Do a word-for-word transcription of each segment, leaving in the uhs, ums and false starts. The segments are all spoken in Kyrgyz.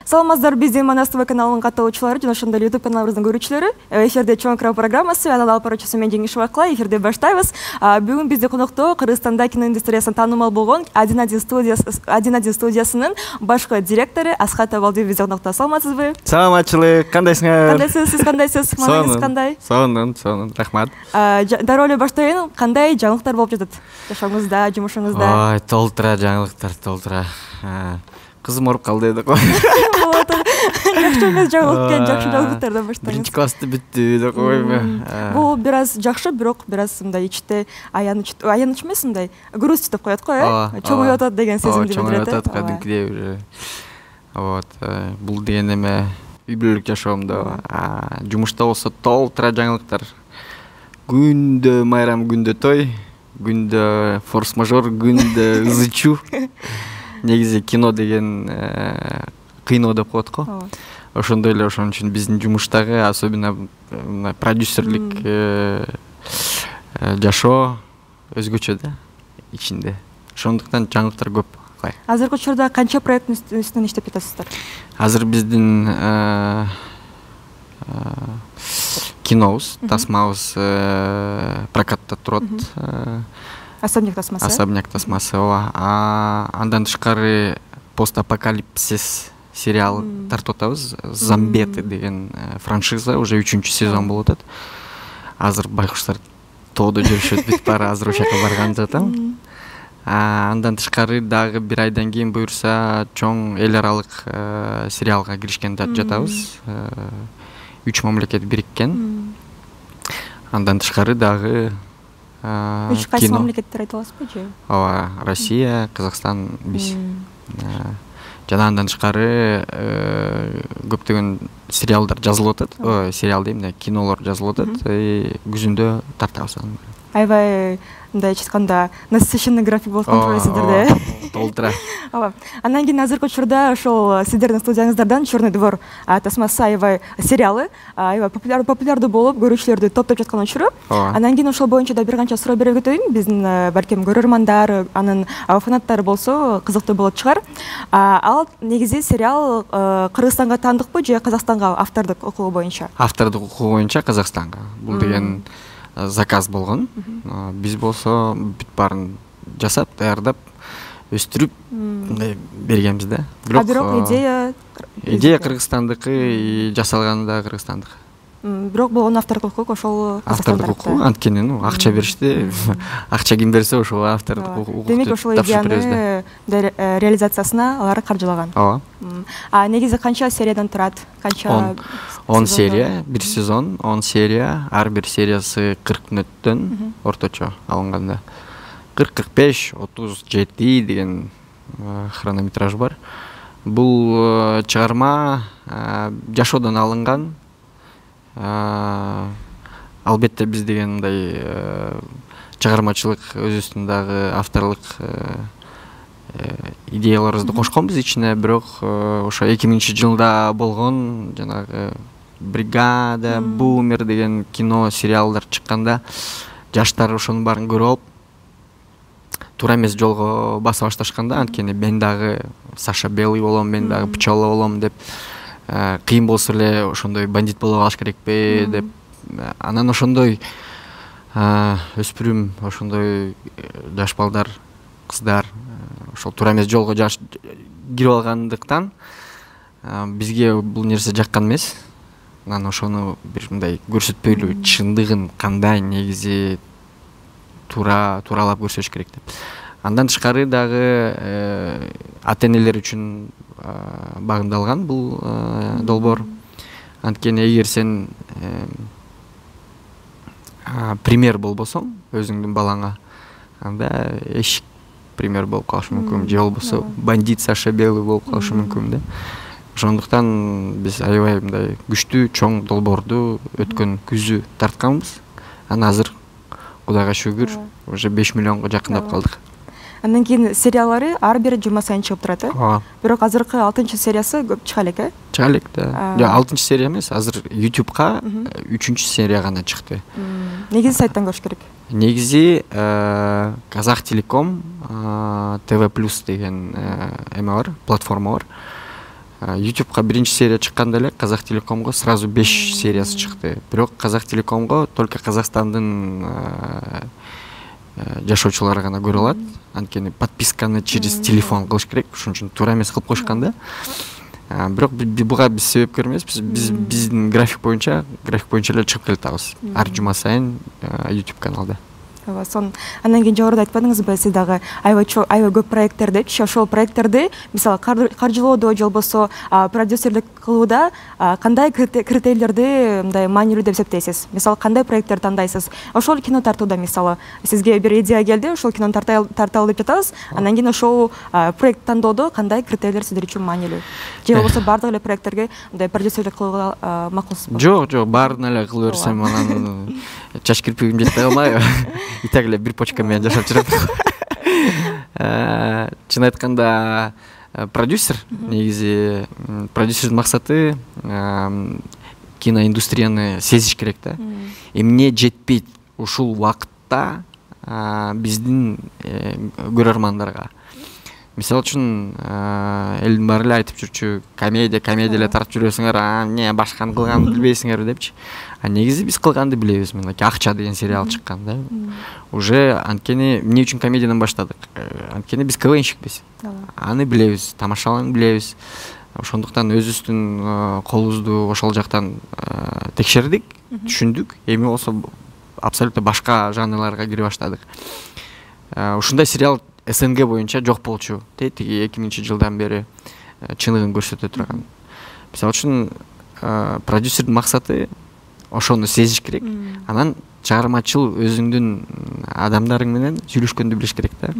Саламатсыздар, биздин Манас ТВ каналынын катталуучулары жана ошондой эле YouTube каналыбыздын көрүүчүлөрү. Эфирде чоң экран программасы, анын алып баруучусу мен Жеңиш Бакла. Эфирде баштайбыз. Бүгүн бизде конокто Кыргызстанда кино индустриясына таанымал болгон один один студиясынын башкы директору Асхат Абалдиев бизде конокто. Саламатсызбы? Саламатчылык, кандайсыңар? Кандайсыз, сиз кандайсыз? Мааңыз кандай? Сонун, сонун, рахмат. Дароо эле баштайын, кандай жаңылыктар болуп жатат жашооңузда, жумушуңузда? Ой, толтура жаңылыктар, толтура. Кызым ооруп калды деп кой. Жакшы эмес жаңылык, жакшы жаңылыктардан баштайбыз. Биринчи классты бүттү деп койбу. Бул бир аз жакшы, бирок бир аз мындай ичте аяныч, аяныч эмес, мындай грусть деп коет го, э? Чоңоюп атат деген сезимди билдирет. Чоңоюп атат кадимкидей уже. Вот, бул деген эме үй бүлөлүк жашоомдо, жумушта болсо толтура жаңылыктар. Күндө майрам, күндө той, күндө форс-мажор, күндө ызычуу. Негизи кино деген кыйноо деп коет го. Ошондой эле, ошон үчүн биздин жумуштагы особенно продюсерлик жашоо өзгөчө да ичинде. Ошондуктан жаңылыктар көп. Азыркы учурда канча проекттин үстүнөн иштеп жатасыздар? Азыр биздин кинобуз, тасмабыз прокатта турат. Особняк тасмасы. Особняк тасмасы, ооба. Андан тышкары постапокалипсис сериал тартып атабыз. Зомбеты деген франшиза уже үчүнчү сезон болуп атат. Азыр байкуштар тоодо жүрүшөт, бүтүп бара, азыр ошол жака барган жатам. Андан тышкары дагы бир айдан кийин буюрса чоң эл аралык сериалга киришкен жатабыз. Үч мамлекет бириккен. Андан тышкары дагы Үч кайсы мамлекеттер айта аласызбы же? Ооба, Россия, Казакстан, биз. Жана андан тышкары көптөгөн сериалдар жазылып атат. Ой, сериал дейм да, кинолор жазылып атат. Күзүндө тартабыз аны. Аябай мындай айтканда насыщенный график болуп калгансыздар да. Толтура. Ооба. Андан кийин азыркы учурда ошол сиздердин студияңыздардан Чёрный двор тасмасы аябай сериалы аябай популярдуу болуп, көрүүчүлөрдү топтоп жаткан учуру. Андан кийин ошол боюнча да бир канча суроо берип өтөйүн. Биздин балким көрөрмандар, анын фанаттары болсо кызыктуу болот чыгар. Ал негизи сериал Кыргызстанга таандыкпы же Казакстанга автордук укугу боюнча? Автордук укугу боюнча Казакстанга. Бул деген заказ болгон. Биз болсо бүт баарын жасап, даярдап, өстүрүп бергенбиз да. Бирок идея идея Кыргызстандыкы, жасалганы да Кыргызстандык. Бирок бул анын автордук укугу ошол автордук укугу, анткени ну акча беришти. Акча ким берсе ошол автордук укугу. Демек ошол идеяны реализациясына алар каржылаган. Ооба. А негизи канча сериядан турат? Канча? он серия, бир сезон, он серия, ар бир сериясы кырк мүнөттөн орточо алынганда. кырк кырк беш, отуз жети деген хронометраж бар. Бул чыгарма жашоодон алынган. Албетте биз деген мындай чыгармачылык өзүбүздүн дагы авторлук идеяларыбызды кошконбуз ичине, бирок ошо эки миңинчи жылда болгон жанагы Бригада, Бумер деген кино, сериалдар чыкканда жаштар ошонун баарын көрүп алып, туура эмес жолго баса башташканда, анткени мен дагы Саша Белый болом, мен дагы Пчела болом деп, кыйын болсо эле ошондой бандит боло калыш керекпи деп, анан ошондой өспүрүм, ошондой жаш балдар, кыздар ошол туура эмес жолго кирип алгандыктан бизге бул нерсе жаккан эмес. Анан ошону бир мындай көрсөтпөйлү, чындыгын кандай негизи туура тууралап көрсөтүш керек деп. Андан тышкары дагы ата-энелер үчүн багындалган бул долбоор. Анткени эгер сен пример болбосоң өзүңдүн балаңа, анда эшик пример болуп калышы мүмкүн, же болбосо бандит Саша Белый болуп калышы мүмкүн да. Ошондуктан биз аябай мындай күчтүү чоң долбоорду өткөн күзү тартканбыз. Анан азыр Кудайга шүгүр уже беш миллионго жакындап калдык. Андан кийин сериялары ар бир жума сайын чыгып турат, э? Бирок азыркы алтынчы сериясы көп чыга элек, э? Чыга элек да. Жок, алтынчы серия эмес, азыр YouTubeга үчүнчү серия гана чыкты. Негизи сайттан көрүш керек. Негизи Казах Телеком ТВ плюс деген эме бар, платформа бар. ютубка биринчи серия чыкканда эле Казак Телекомго сразу беш сериясы чыкты. Бирок Казак Телекомго только Казакстандын жашоочулары гана көрө алат. Анткени подписканы через телефон кылыш керек. Ошон үчүн туура эмес кылып коюшкан да. Бирок буга биз себепкер эмеспиз. Биз биздин график боюнча, график боюнча эле чыгып келатабыз. Ар жума сайын YouTube каналда. Сон андан кийин жогоруда айтпадыңызбы, сиз дагы аябай аябай көп проекттерди, ошол проекттерди мисалы каржылоодо же болбосо продюсерлик кылууда кандай критерийлерди мындай маанилүү деп эсептейсиз? Мисалы кандай проекттер тандайсыз? Ошол кино тартууда мисалы сизге бир идея келди, ошол кинону тарталы деп жатабыз. Андан кийин ошол проект тандоодо кандай критерийлер сиздер үчүн маанилүү? Же болбосо бардык эле проекттерге мындай продюсерлик кылууга макулсузбу? Жок, жок, баарын эле кыла берсем анан чач кирпигим жетпей калмайбы? И так эле бир почка менен жашап жүрөм. Чын айтканда продюсер негизи продюсердин максаты киноиндустрияны сезиш керек да. Эмне жетпейт ушул убакытта биздин көрөрмандарга. Мисалы үчүн элдин баары эле айтып жүрчү, комедия, комедия эле тартып жүрөсүңөр, а эмне башканы кылганды билбейсиңерби депчи. А негизи биз кылганды билебиз. Мынакей Акча деген сериал чыккан да. Уже анткени эмне үчүн комедиядан баштадык? Анткени биз КВНщикпиз. Аны билебиз, тамашалоону билебиз. Ошондуктан өзүбүздүн колубузду ошол жактан текшердик, түшүндүк. Эми болсо абсолютно башка жанрларга кире баштадык. Ушундай сериал СНГ боюнча жок болчу. Тиги эки миңинчи жылдан бери чыныгын көрсөтө турган. Мисалы үчүн продюсердин максаты ошону сезиш керек. Анан чыгармачыл өзүңдүн адамдарың менен сүйлөшкөндү билиш керек да.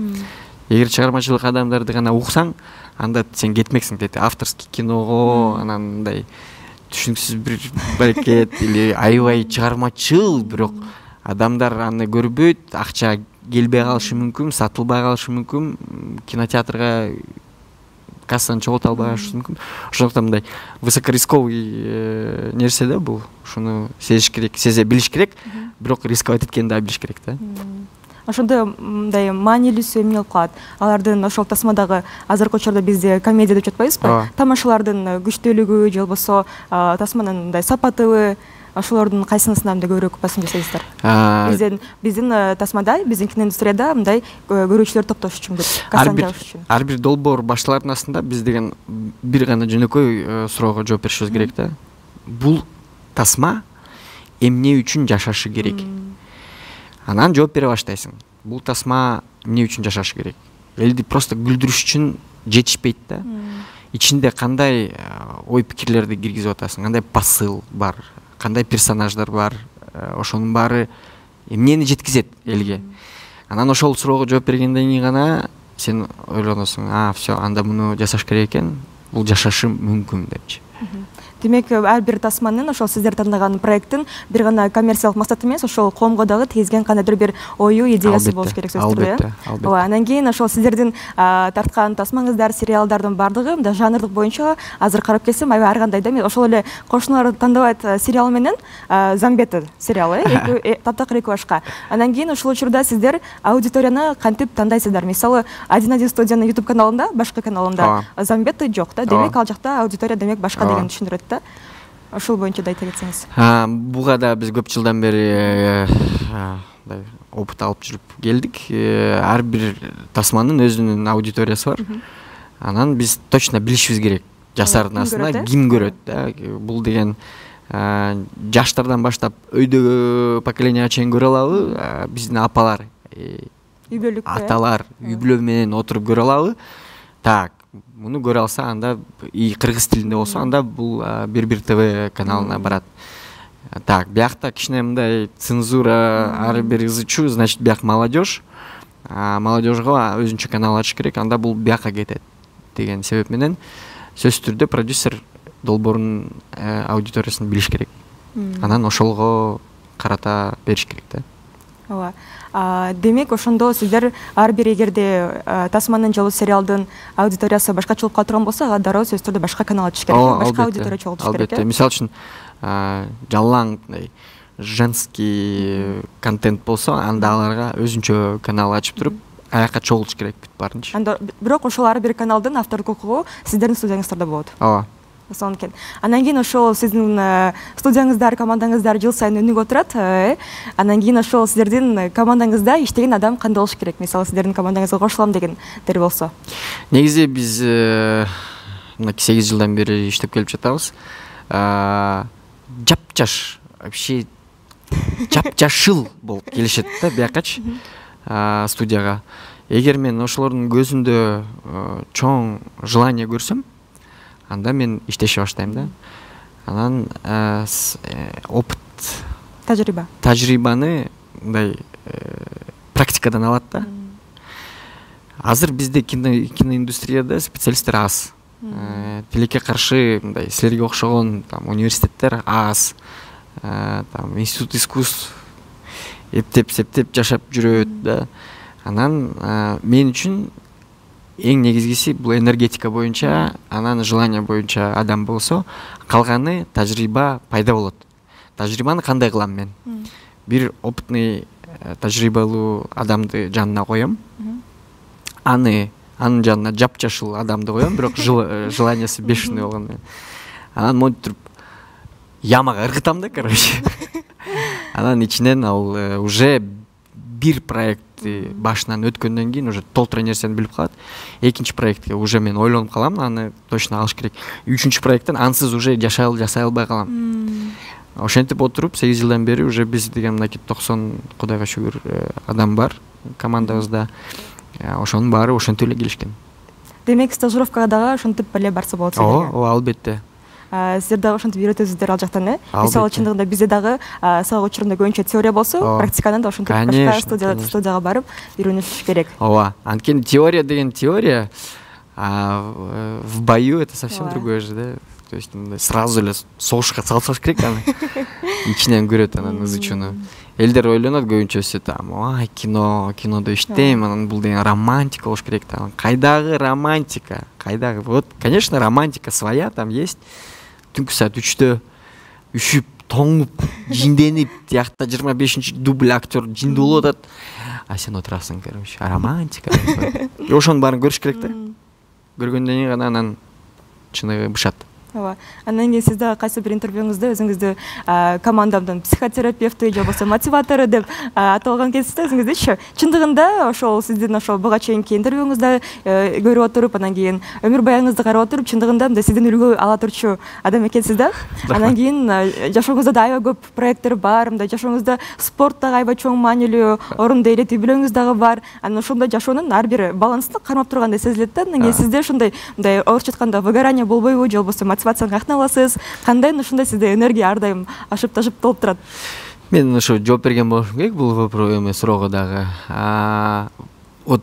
Эгер чыгармачылык адамдарды гана уксаң, анда сен кетмексиң деди. Авторский киного, анан мындай түшүнүксүз бир баракет или аябай чыгармачыл, бирок адамдар аны көрбөйт, акча келбей калышы мүмкүн, сатылбай калышы мүмкүн, кинотеатрга кассаны чогулта албай калышы мүмкүн. Ошондуктан мындай высокорисковый нерсе да бул. Ушуну сезиш керек, сезе билиш керек, бирок рисковать эткенди да билиш керек да. Ошондо мындай маанилүүсү эмне болуп калат? Алардын ошол тасмадагы азыркы учурда бизде комедия деп жатпайбызбы? Тамашалардын күчтүүлүгү же болбосо тасманын мындай сапатыбы, ошолордун кайсынысына мындай көбүрөөк басым жасайсыздар? Биздин биздин тасмада, биздин киноиндустрияда мындай көрүүчүлөр топтош үчүн деп, кассаны жабыш үчүн. Ар бир долбоор башталардын астында биз деген бир гана жөнөкөй суроого жооп беришибиз керек да. Бул тасма эмне үчүн жашашы керек? Анан жооп бере баштайсың. Бул тасма эмне үчүн жашашы керек? Элди просто күлдүрүш үчүн жетишпейт да. Ичинде кандай ой пикирлерди киргизип атасың, кандай посыл бар, кандай персонаждар бар, ошонун баары эмнени жеткизет элге. Анан ошол суроого жооп бергенден кийин гана сен ойлоносуң, а, всё, анда муну жасаш керек экен, бул жашашы мүмкүн депчи. Демек, ар бир тасманын ошол сиздер тандаган проекттин бир гана коммерциялык максаты эмес, ошол коомго дагы тийгизген кандайдыр бир ою, идеясы болуш керек сөзсүз түрдө. Ооба, андан кийин ошол сиздердин тарткан тасмаңыздар, сериалдардын бардыгы мындай жанрлык боюнча азыр карап келсем аябай ар кандай да. Ошол эле Кошуналар тандабайт сериалы менен Замбета сериалы таптакыр эки башка. Андан кийин ушул учурда сиздер аудиторияны кантип тандайсыздар? Мисалы, один один студиянын YouTube каналында, башка каналында Замбета жок да. Демек, ал жакта аудитория демек башка деген түшүндүрөт. Ошол боюнча да айта кетсеңиз. Буга да биз көп жылдан бери опыт алып жүрүп келдик. Ар бир тасманын өзүнүн аудиториясы бар. Анан биз точно билишибиз керек. Жасардын астында ким көрөт да. Бул деген жаштардан баштап өйдөгү поколенияга чейин көрө алабы? Биздин апалар, аталар үй бүлө менен отуруп көрө алабы? Так, муну көрө алса, анда и кыргыз тилинде болсо, анда бул бир-бир ТВ каналына барат. Так, биякта кичине мындай цензура, ар бир ызы чуу, значит, бияк молодежь. Молодежьго өзүнчө канал ачыш керек, анда бул бияка кетет деген себеп менен сөзсүз түрдө продюсер долбоордун аудиториясын билиш керек. Анан ошолго карата бериш керек да. Ооба. Демек, ошондо сиздер ар бир эгерде тасманын же сериалдын аудиториясы башкача болуп кала турган болсо, ага дароо сөзсүз түрдө башка канал ачыш керек, башка аудитория чогултуш керек. Албетте. Мисалы үчүн жалаң женский контент болсо, анда аларга өзүнчө канал ачып туруп, аякка чогулуш керек бүт баарынча. Анда бирок ошол ар бир каналдын автордук укугу сиздердин студияңыздарда болот. Ооба. Ошон экен. Андан кийин ошол сиздин студияңыздар, командаңыздар жыл сайын өнүгүп отурат. Андан кийин ошол сиздердин командаңызда иштеген адам кандай болуш керек? Мисалы сиздердин командаңызга кошулам дегендер болсо. Негизи биз мына сегиз жылдан бери иштеп келип жатабыз. Жапжаш, вообще жапжашыл болуп келишет да биякачы студияга. Эгер мен ошолордун көзүндө чоң желание көрсөм, анда мен иштеше баштайм да. Анан опыт, тажрыйба. Тажрыйбаны мындай практикадан алат да. Азыр бизде киноиндустрияда специалисттер аз. Тилекке каршы мындай силерге окшогон там университеттер аз. Там институт искусств эптеп септеп жашап жүрөт да. Анан мен үчүн эң негизгиси бул энергетика боюнча, анан желание боюнча адам болсо, калганы тажрыйба пайда болот. Тажрыйбаны кандай кылам мен? Бир опытный тажрыйбалуу адамды жанына коем. Аны анын жанына жапжашыл адамды коем, бирок желаниясы бешеный болгон. Анан монтип туруп ямага ыргытам да, короче. Анан ичинен ал уже бир проектти башынан өткөндөн кийин уже толтура нерсени билип калат. Экинчи проектке уже мен ойлонуп калам, аны точно алыш керек. Үчүнчү проекттен ансыз уже жашай жашай албай калам. Ошентип отуруп сегиз жылдан бери уже биз деген мынакей токсон кудайга шүгүр адам бар командабызда. Ошонун баары ошентип эле келишкен. Демек стажировкага дагы ошентип эле барса болот силерге. Ооба, албетте. Сиздер дагы ошентип үйрөтөсүздөр ал жактан, э? Мисалы чындыгында бизде дагы сабак учурунда көбүнчө теория болсо, практиканы да ошентип башка студияга барып үйрөнүш керек. Ооба. Анткени теория деген теория, а в бою это совсем другое же, да? То есть сразу эле согушка салсак керек аны. Ичинен көрөт анан изучууну. Элдер ойлонот көбүнчөсү там, ой, кино, кинодо иштейм, анан бул деген романтика болуш керек там. Кайдагы романтика? Кайдагы? Вот, конечно, романтика своя там есть. Түнкү саат үчтө үшүп, тоңуп, жинденип, тиякта жыйырма бешинчи дубль актер жинди болуп атат. А сен отурасың, короче, романтика. И ошонун баарын көрүш керек да. Көргөндөн кийин гана анан чыныгы бышат. Ооба. Андан кийин сиз дагы кайсы бир интервьюңузда өзүңүздү командамдын психотерапевти же болбосо мотиватору деп аталган кезиңизде да өзүңүздүчү. Чындыгында ошол сиздин ошол буга чейинки интервьюңузда көрүп отуруп, анан кийин өмүр баягыңызды карап отуруп, чындыгында мындай сиздин үлгү ала турчу адам экенсиз да. Анан кийин жашооңузда да аябай көп проекттер бар, мындай жашооңузда спорт дагы аябай чоң маанилүү орунду ээлеп үйлөрүңүз дагы бар. Анан ошондой жашоонун ар бир баланстын кармап тургандай сезилет да. Анан кийин сизде ошондой мындай орусча айтканда выгорание болбойбу же болбосо мотивацияны каяктан аласыз? Кандай ушундай сизде энергия ар дайым ашып ташып толуп турат? Мен ошо жооп берген болушум керек бул вопрос суроого дагы. Вот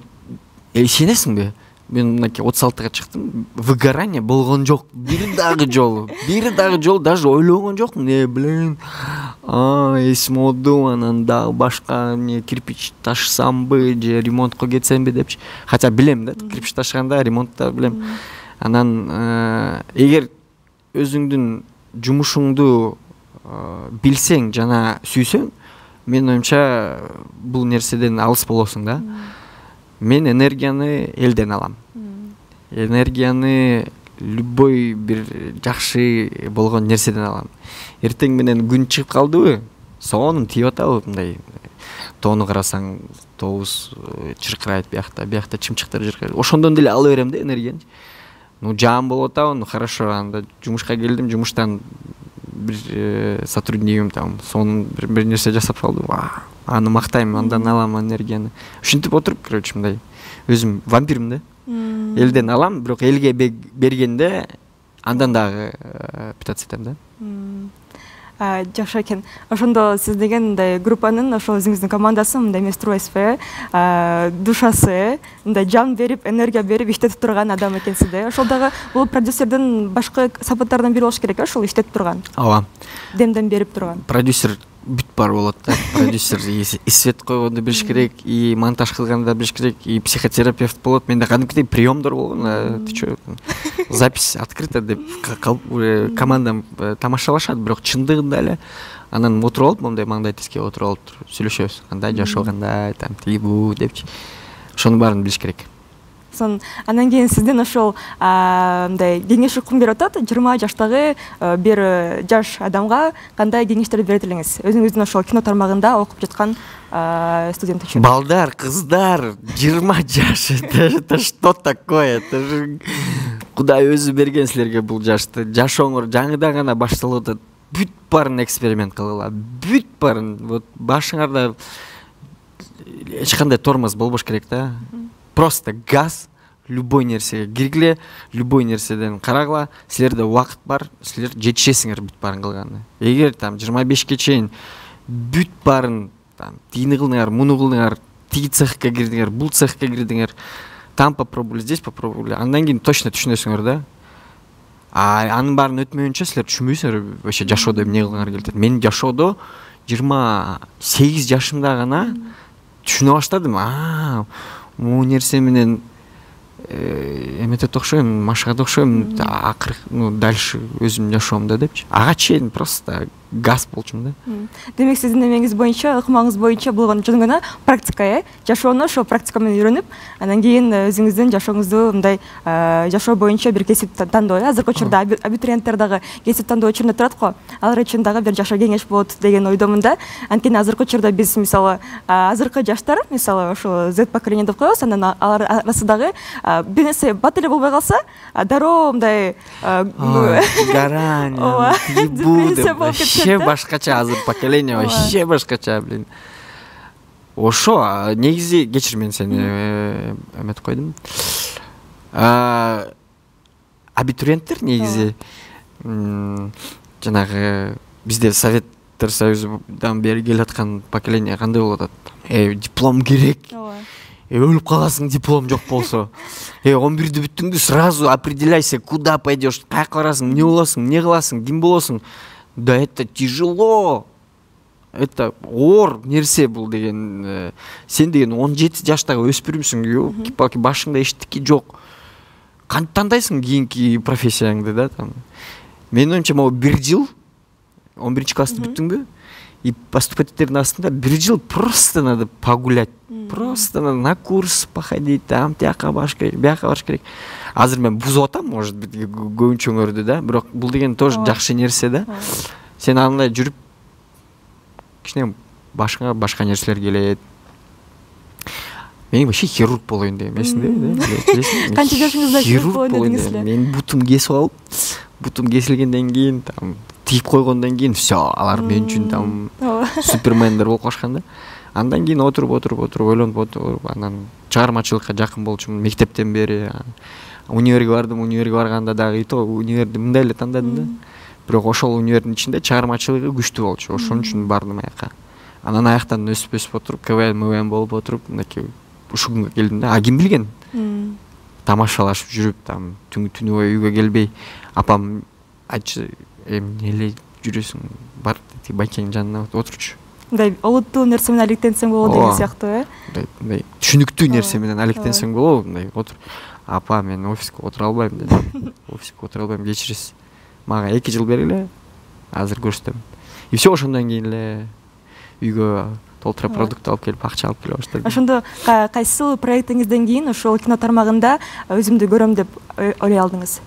ишенесиңби? Мен мынакей отуз алтыга чыктым, выгорание болгон жок. Бир дагы жолу, бир дагы жолу даже ойлогон жокмун. Э, блин, а, эсим олду, анан дагы башка эмне кирпич ташысамбы же ремонтко кетсемби депчи. Хотя билем да, кирпич ташыганда ремонтта билем. Анан эгер өзүңдүн жумушуңду билсең жана сүйсөң, мен оюмча бул нерседен алыс болосуң да. Мен энергияны элден алам. Энергияны любой бир жакшы болгон нерседен алам. Эртең менен күн чыгып калдыбы, сонун тийип атабы, мындай тоону карасаң, тообуз чыркырайт биякта, биякта чымчыктар чыркырайт. Ошондон деле ала берем да энергияны. Ну, жаам болуп атабы, ну хорошо, анда жумушка келдим, жумуштан бир сотруднигим там сонун бир нерсе жасап салды. Аны мактайм, андан алам энергияны. Ушинтип отуруп, короче, мындай өзүм вампирмин да. Элден алам, бирок элге бергенде андан дагы питаться этем да. Жакшы экен. Ошондо сиз деген мындай группанын, ошол өзүңүздүн командасын мындай эмес турбайсызбы, э? Душасы, мындай жан берип, энергия берип иштетип турган адам экенсиз да. Ошол дагы бул продюсердин башкы сапаттарынан бири болуш керек, ошол иштетип турган. Ооба. Демден берип турган. Продюсер бүт бар болот да. Продюсер и свет койгонду билиш керек, и монтаж кылганды билиш керек, и психотерапевт болот. Менде кадимкидей приемдор болгон. Ты чё? Запись открыта деп командам тамашалашат, бирок чындыгында эле анан отуруп алып, мындай маңдай тизге отуруп алып сүйлөшөбүз. Кандай жашоо, кандай там тигибу депчи. ошонун баарын билиш керек. Сон андан кийин сиздин ошол мындай кеңеш укум берип атат, жыйырма жаштагы бир жаш адамга кандай кеңештер берет элеңиз? Өзүңүздүн ошол кино тармагында окуп жаткан студент үчүн. Балдар, кыздар, жыйырма жаш, это что такое? Это же Кудай өзү берген силерге бул жашты. Жашооңор жаңыдан гана башталып атат. Бүт баарын эксперимент кылгыла. Бүт баарын, вот башыңарда эч кандай тормоз болбош керек да. Просто газ, любой нерсеге киргиле, любой нерседен карагыла. Силерде убакыт бар, силер жетишесиңер бүт баарын кылганына. Эгер там жыйырма бешке чейин бүт баарын там тигини кылдыңар, муну кылдыңар, тиги цехке кирдиңер, бул цехке кирдиңер, там попробовали, здесь попробовали, андан кийин точно түшүнөсүңөр да. А анын баарын өтмөйүнчө силер түшүнбөйсүңөр вообще жашоодо эмне кылгыңар келет. Мен жашоодо жыйырма сегиз жашымда гана түшүнө баштадым. А могу нерсе менен эметет окшойм, машыгат окшойм, акыры ну дальше өзүм жашоомдо депчи. Ага чейин просто газ болчумун да. Демек сиздин эмеңиз боюнча, ыкмаңыз боюнча болгон жөн гана практика, э? Жашоону ошо практика менен үйрөнүп, андан кийин өзүңүздүн жашооңузду мындай жашоо боюнча бир кесип тандоо. Азыркы учурда абитуриенттер дагы кесип тандоо учуруна турат го. Алар үчүн дагы бир жашоо кеңеш болот деген ойдомун да. Анткени азыркы учурда биз мисалы азыркы жаштар, мисалы ошо Z поколение деп коебуз, андан алар арасындагы бир нерсе бат эле болбой калса, дароо мындай гарань, вообще башкача азыр поколение, вообще башкача, блин. Ошо негизи кечир, мен сени эметип койдум. Абитуриенттер негизи жанагы бизде Советтер Союзунан бери келаткан поколение кандай болуп атат? Э, диплом керек. Э, өлүп каласың диплом жок болсо. Э, он бирди бүттүңдү, сразу определяйся, куда пойдешь, каяка барасың, эмне болосуң, эмне кыласың, ким болосуң. Да это тяжело. Это оор нерсе бул деген. Сен деген он жети жаштагы өспүрүмсүң, ёлки-палки, башыңда эчтеке жок. Кантип тандайсың кийинки профессияңды да там. Менин оюмча могу бир жыл, он биринчи классты бүттүңбү? И поступательдердин астында бир жыл просто надо погулять. Просто надо на курс походить, там тияка барыш керек, бияка барыш керек. Азыр мен бузуп атам, может быть, көбүнчөңөрдү да, бирок бул деген тоже жакшы нерсе да. Сен андай жүрүп кичине башка башка нерселер келет. Мен вообще хирург болоюн деген эмесиң, канча жашыңызда хирург болоюн дедиңиз эле? Мен бутум кесип алып, бутум кесилгенден кийин там тигип койгондон кийин все, алар мен үчүн там супермендер болуп калышкан да. Андан кийин отуруп отуруп отуруп ойлонуп отуруп анан чыгармачылыкка жакын болчумун мектептен бери. Универге бардым, универге барганда дагы и то универди мындай эле тандадым да. Бирок ошол универдин ичинде чыгармачылыгы күчтүү болчу. Ошон үчүн бардым аяка. Анан аяктан өсүп өсүп отуруп, КВН, МВН болуп отуруп, мынакей ушул күнгө келдим да. А ким билген? Тамашалашып жүрүп, там түнү бою үйгө келбей, апам айтчы, эмне эле жүрөсүң, бар деди, байкеңдин жанына отурчу. Мындай олуттуу нерсе менен алектенсең болот деген сыяктуу, э? Мындай түшүнүктүү нерсе менен алектенсең болобу, мындай отур. Апа, мен офиске отура албайм дедим. Офиске отура албайм, кечиресиз. Мага эки жыл бергиле, азыр көрсөтөм. И все, ошондон кийин эле үйгө толтура продукт алып келип, акча алып келе баштадым. Ошондо кайсы проектиңизден кийин ошол кино тармагында өзүмдү көрөм деп ойлой алдыңыз?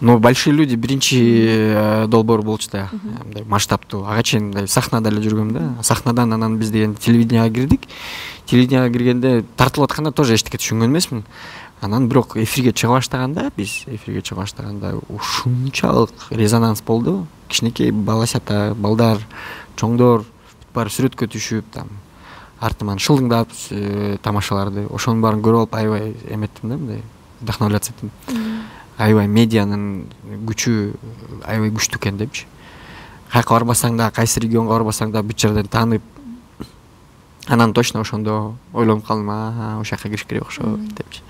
Ну, большие люди биринчи долбоор болчу да, мындай масштабтуу. Ага чейин мындай сахнада эле жүргөм да. Сахнадан анан биз деген телевиденияга кирдик. Телевиденияга киргенде тартылып атканда тоже эчтеке түшүнгөн эмесмин. Анан бирок эфирге чыга баштаганда, биз эфирге чыга баштаганда ушунчалык резонанс болду. Кичинекей баласята, балдар, чоңдор баары сүрөткө түшүп, там артыман шылдыңдап тамашаларды. Ошонун баарын көрүп алып аябай эметтим да, мындай вдохновляться эттим. Аябай медианын күчү аябай күчтүү экен депчи. Каяка барбасаң да, кайсы регионго барбасаң да бүт жерден таанып. Анан точно ошондо ойлонуп калдым, а, ошол жака кириш керек окшойт депчи.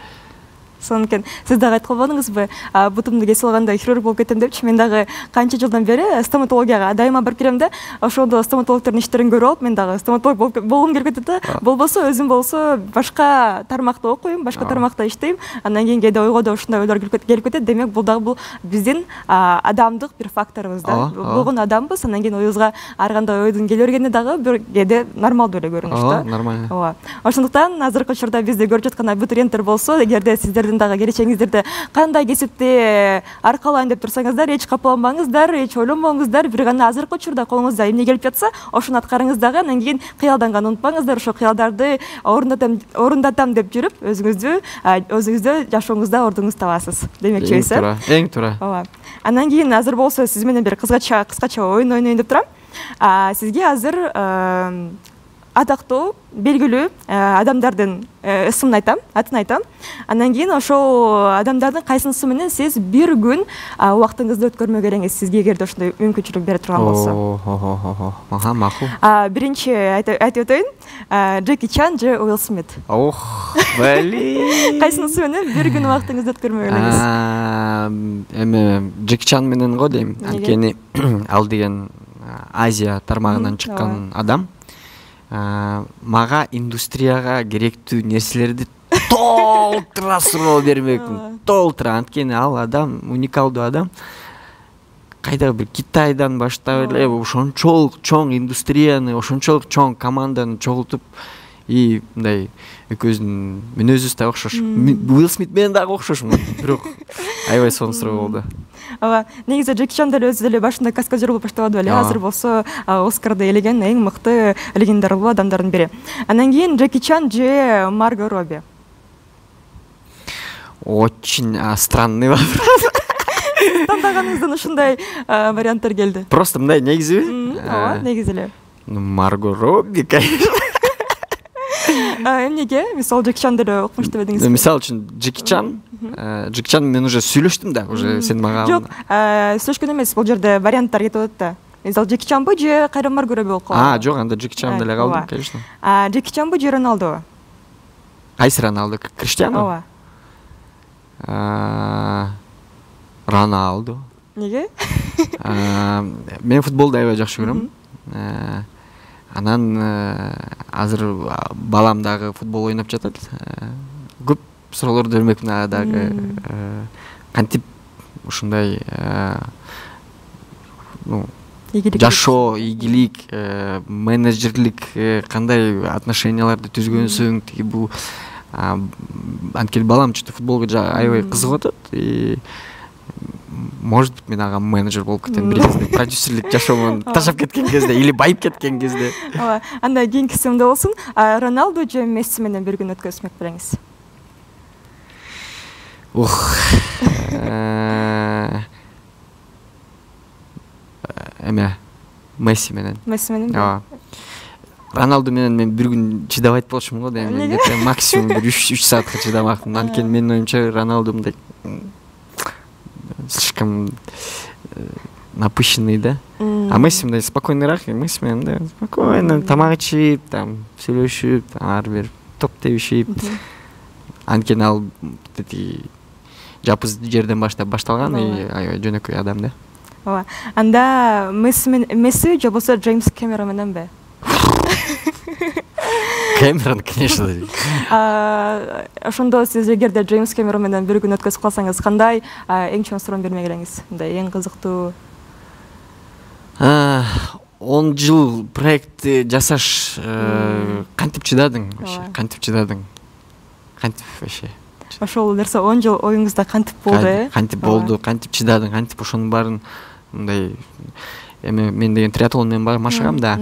Сонан кийин сиз дагы айткан болдуңузбу, бутумду кесип алганда хирург болуп кетем депчи. Мен дагы канча жылдан бери стоматологияга дайыма барып келем да, ошондо стоматологдордун иштерин көрүп алып, мен дагы стоматолог болгум келип кетет да. Болбосо өзүм болсо башка тармакта окуйм, башка тармакта иштейм. Андан кийин кээде ойго да ушундай ойлор келип кетет. Демек бул дагы бул биздин адамдык бир факторубуз да. Болгон адамбыз, андан кийин оюбузга ар кандай ойдун келе бергени дагы бир кээде нормалдуу эле көрүнүш да. Нормально. Ооба. Ошондуктан азыркы учурда бизди көрүп жаткан абитуриенттер болсо, эгерде сиздердин дагы келечегиңиздерде кандай кесипти аркалайын деп турсаңыздар, эч капаланбаңыздар, эч ойлонбоңуздар. Бир гана азыркы учурда колуңузда эмне келип жатса, ошону аткарыңыз дагы. Андан кийин кыялданганды унутпаңыздар. Ошо кыялдарды орундатам орундатам деп жүрүп, өзүңүздү өзүңүздө жашооңузда ордуңузду табасыз. Демекчибиз. Эң туура, эң туура. Ооба. Андан кийин азыр болсо сиз менен бир кыскача кыскача оюн ойнойн деп турам. Сизге азыр атактуу, белгилүү адамдардын ысымын айтам, атын айтам. Андан кийин ошол адамдардын кайсынысы менен сиз бир күн убактыңызды өткөрмөк элеңиз, сизге эгерде ошондой мүмкүнчүлүк бере турган болсо. Ага, макул. Биринчи айтып өтөйүн. Джеки Чан же Уилл Смит. Ох, блин. Кайсынысы менен бир күн убактыңызды өткөрмөк элеңиз? Эми Джеки Чан менен го дейм. Анткени ал деген Азия тармагынан чыккан адам. Мага индустрияга керектүү нерселерди толтура суроо бермекмин. Толтура. Анткени ал адам уникалдуу адам. Кайдагы бир Китайдан баштап эле ошончолук чоң индустрияны, ошончолук чоң команданы чогултуп, и мындай экөөбүздүн мүнөзүбүз да окшош. Уилл Смит менен дагы окшошмун, бирок аябай сонун суроо болду. Ооба, негизи Джеки Чан деле өзү деле башында каскадер болуп баштабады беле. Азыр болсо Оскарды ээлеген эң мыкты легендарлуу адамдардын бири. Андан кийин Джеки Чан же Марго Робби. Очень странный вопрос. Тандагаңыздан ушундай варианттар келди. Просто мындай негизиби? Ооба, негизи эле. Марго Робби, конечно. Эмнеге? Мисалы Джеки Чан деле окумуштуу бедиңиз. Мисалы үчүн Джеки Чан, Джеки Чан менен уже сүйлөштүм да, уже сен мага. Жок, сүйлөшкөн эмес, бул жерде варианттар кетип атат да. Мисалы Джеки Чанбы же кайра Марго Робби болуп калды? А, жок, анда Джеки Чан деле калдым, конечно. Джеки Чанбы же Роналду? Кайсы Роналду? Криштиану? Ооба. Роналду. Неге? Мен футболду аябай жакшы көрөм. Анан азыр балам дагы футбол ойноп жатат. Көп суроолорду бермекмин ага дагы. Кантип ушундай ну жашоо, ийгилик, менеджерлик кандай отношенияларды түзгөнсүң, тиги бул анткени балам чөтө футболго аябай кызыгып атат. И может быть, мен ага менеджер болуп кетем бир кезде, продюсерлик жашоомун таштап кеткен кезде или байып кеткен кезде. Ооба, анда кийинки сымда болсун. Роналду же Месси менен бир күн өткөзмөк белеңиз? Ух. Эме Месси менен. Месси менен. Ооба. Роналду менен мен бир күн чыдабайт болчумун го дейм. Мен максимум бир үч саатка чыдамакмын. Анткени менин оюмча Роналду мындай слишком напыщенный, да? А Месси мындай спокойныйраак, Месси менен да спокойно тамак ичип, там сүйлөшүп, ар бир топ тебишип. Анткени ал жапыз жерден баштап башталган, и аябай жөнөкөй адам да. Ооба. Анда Месси менен Месси же болсо Джеймс Кэмерон мененби? Кэмерон, конечно. Ошондо сиз эгерде Джеймс Кэмерон менен бир күн өткөзүп калсаңыз, кандай эң чоң суроону бермек элеңиз? Мындай эң кызыктуу. он жыл проектти жасаш кантип чыдадың вообще? Кантип чыдадың? Кантип вообще? Ошол нерсе он жыл оюңузда кантип болду, э? Кантип болду, кантип чыдадың, кантип ошонун баарын мындай эми мен деген триатлон менен машыгам да.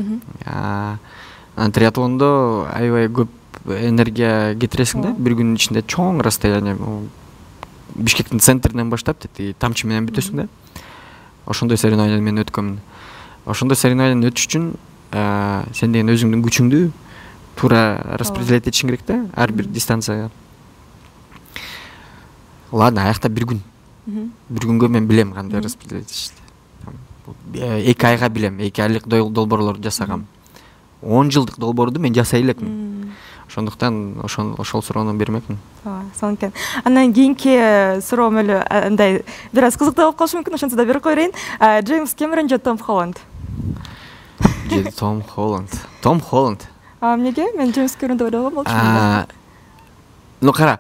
Триатлондо аябай көп энергия кетиресиң да, бир күнүн ичинде чоң расстояние. Бишкектин центринен баштап тети тамчы менен бүтөсүң да. Ошондой соревнование мен өткөмүн. Ошондой соревнование өтүш үчүн сен деген өзүңдүн күчүңдү туура распределять этишиң керек да, ар бир дистанцияга. Ладно, аякта бир күн. Бир күнгө мен билем кандай распределять этишти. эки айга билем, эки айлык долбоорлорду жасагам. он жылдык долбоорду мен жасай элекмин. ошондуктан ошол ошол суроону бермекмин. ооба сонун экен. Андан кийинки суроом эле андай бир аз кызыктуу болуп калышы мүмкүн, ошентсе да берип кое берейин. Джеймс Кэмерон же Том Холланд? же Том Холланд. Том Холланд. А эмнеге? Мен Джеймс Кэмерон деп ойлогон болчумун. Ну кара,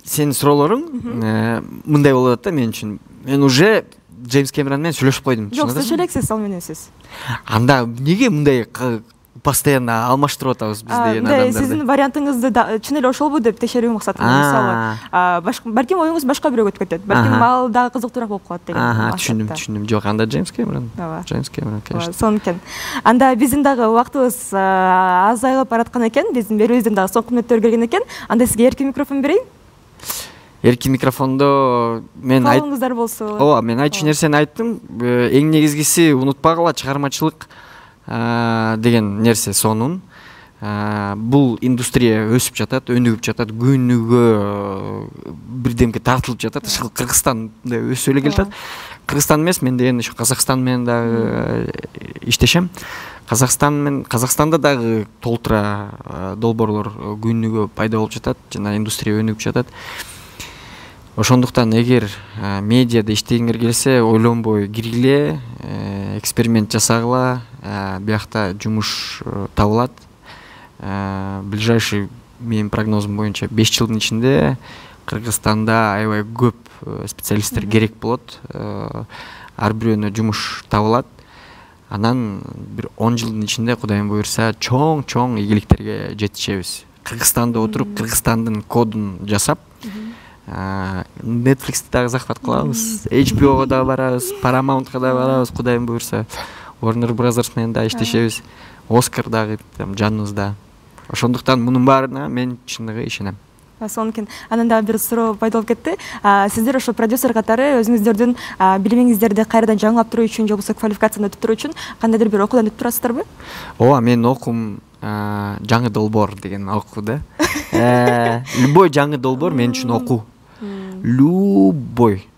сенин суроолоруң мындай болуп атат да мен үчүн. Мен уже Джеймс Кэмерон менен сүйлөшүп койдум. Жок, сиз элексиз, ал менен сиз. Анда эмнеге мындай постоянно алмаштырып атабыз биз деген адамдарды? Сиздин вариантыңызды чын эле ошолбу деп текшерүү максатында, мисалы, балким оюңуз башка бирөөгө өтүп кетет. Балким ал дагы кызыктуураак болуп калат деген. Ага, түшүндүм, түшүндүм. Жок, анда Джеймс Кэмерон. Джеймс Кэмерон, конечно. Сонун экен. Анда биздин дагы убактыбыз азайып бараткан экен, биздин берүүбүздүн дагы соңку мүнөттөрү келген экен. Анда сизге эркин микрофон берейин. Эркин микрофондо мен айт. Калыңыздар болсо. Ооба, мен айтчу нерсени айттым. Эң негизгиси унутпагыла, чыгармачылык деген нерсе сонун. Бул индустрия өсүп жатат, өнүгүп жатат, күнүгө бирдемке тартылып жатат. Ушул Кыргызстанда өсүп эле келатат. Кыргызстан эмес, мен деген ушу Казакстан менен дагы иштешем. Казакстан менен Казакстанда дагы толтура долбоорлор күнүгө пайда болуп жатат, жана индустрия өнүгүп жатат. Ошондуктан эгер медиада иштегиңер келсе, ойлонбой киргиле, эксперимент жасагыла, биякта жумуш табылат. Ближайший менин прогнозум боюнча беш жылдын ичинде Кыргызстанда аябай көп специалисттер керек болот. Ар бирөөнө жумуш табылат. Анан бир он жылдын ичинде Кудайым буйрса чоң-чоң ийгиликтерге жетишебиз. Кыргызстанда отуруп, Кыргызстандын кодун жасап, Netflix'ти дагы захват кылабыз, эйч би ого дагы барабыз, Paramount'ка дагы барабыз, Кудайым буйрса. Warner Brothers менен дагы иштешебиз. Оскар дагы жаныбызда. Ошондуктан мунун баарына мен чындыгы ишенем. Сонун экен. Анан дагы бир суроо пайда болуп кетти. Сиздер ошо продюсер катары өзүңүздөрдүн билимиңиздерди кайрадан жаңылап туруу үчүн, же болбосо квалификацияны өтүп туруу үчүн кандайдыр бир окуудан өтүп турасыздарбы? Ооба, мен окуум жаңы долбоор деген окуу да. Любой жаңы долбоор мен үчүн окуу. Любой.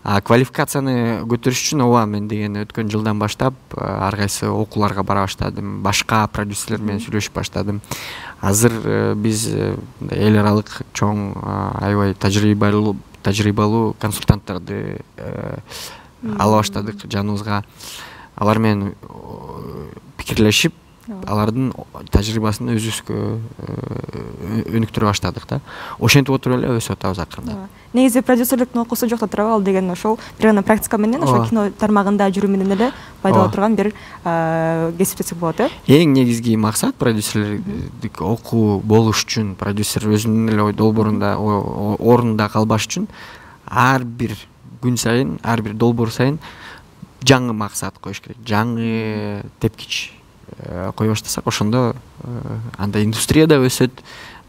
А квалификацияны көтөрүш үчүн ооба мен деген өткөн жылдан баштап ар кайсы окууларга бара баштадым, башка продюсерлер менен сүйлөшүп баштадым. Азыр биз эл аралык чоң аябай тажрыйбалуу тажрыйбалуу консультанттарды ала баштадык жаныбызга. Алар менен пикирлешип, алардын тажрыйбасын өзүбүзгө өнүктүрө баштадык да. Ошентип отуруп эле өсүп атабыз акырында. Негизи продюсерликтин окуусу жокто турабы, ал деген ошол бир гана практика менен, ошо кино тармагында жүрүү менен эле пайда боло турган бир кесип десек болот, э? Эң негизги максат продюсерлик окуу болуш үчүн, продюсер өзүнүн эле долбоорунда ордунда калбаш үчүн ар бир күн сайын, ар бир долбоор сайын жаңы максат коюш керек, жаңы тепкич кое баштасак, ошондо анда индустрия да өсөт,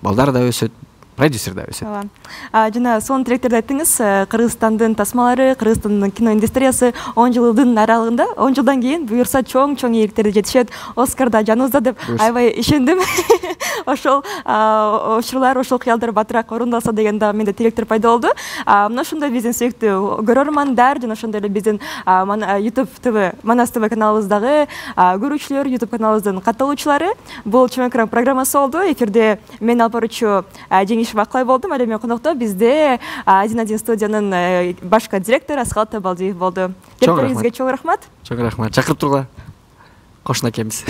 балдар да өсөт, продюсер да өсөт. Ооба. Жана сонун тилектерди айттыңыз. Кыргызстандын тасмалары, Кыргызстандын кино индустриясы он жылдын аралыгында, он жылдан кийин буюрса чоң-чоң ийгиликтерге жетишет. Оскарда жаныбызда деп аябай ишендим. Ошол учурлар, ошол кыялдар батыраак орундалса деген да менде тилектер пайда болду. Мына ошондой биздин сүйүктүү көрөрмандар, жана ошондой эле биздин YouTube тэ вэ, Манас тэ вэ каналыбыздагы көрүүчүлөр, YouTube каналыбыздын катталуучулары, бул чоң экран программасы болду. Эфирде мен алып баруучу Жеңиш Баклай болдум. Ал эми конокто бизде один один студиянын башкы директору Асхат Табалдиев болду. Келиңизге чоң рахмат. Чоң рахмат. Чакырып тургула. Кошуна экенбиз.